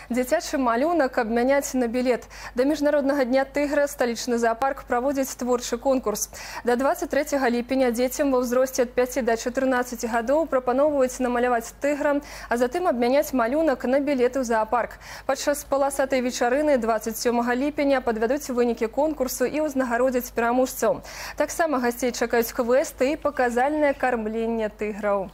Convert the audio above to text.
Дзіцячы малюнак абмяняць на білет. Да Міжнароднага дня тыгра сталічны зоопарк праводзіць творчы конкурс. До 23 ліпеня дзецям ва ўзросце ад 5 до 14 гадоў прапаноўваюць намаляваць тыгра, а затым абмяняць малюнак на білеты ў зоопарк. Падчас паласатай вечарыны 27 ліпеня падвядуць вынікі конкурсу і ўзнагародзяць пераможцаў. Таксама гасцей чакаюць квесты і паказальнае кармленне тыграў.